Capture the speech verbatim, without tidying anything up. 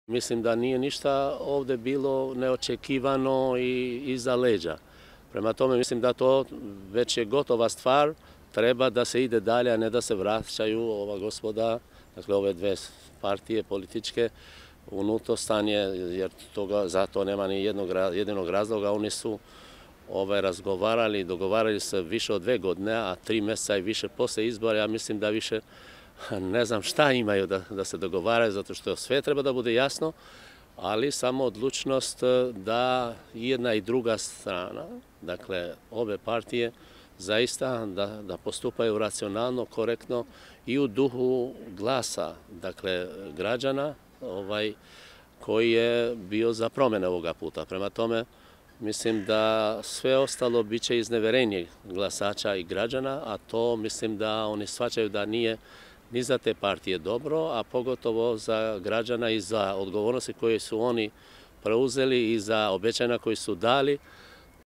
Mislim da nije ništa ovdje bilo neočekivano i iza leđa. Prema tome mislim da to već je gotova stvar, treba da se ide dalje, a ne da se vraćaju ova gospoda, dakle ove dve partije političke unutar stanje, jer toga, za to nema ni jednog, jedinog razloga. Oni su ovaj, razgovarali, dogovarali se više od dve godine, a tri mjeseca i više poslije izbora. Ja mislim da više ne znam šta imaju da, da se dogovaraju, zato što sve treba da bude jasno, ali samo odlučnost da jedna i druga strana, dakle obe partije, zaista da, da postupaju racionalno, korektno i u duhu glasa, dakle građana ovaj, koji je bio za promjene ovoga puta. Prema tome, mislim da sve ostalo bit će izneverenje glasača i građana, a to mislim da oni shvaćaju da nije ni za te partije dobro, a pogotovo za građana i za odgovornosti koje su oni preuzeli i za obećanja koje su dali.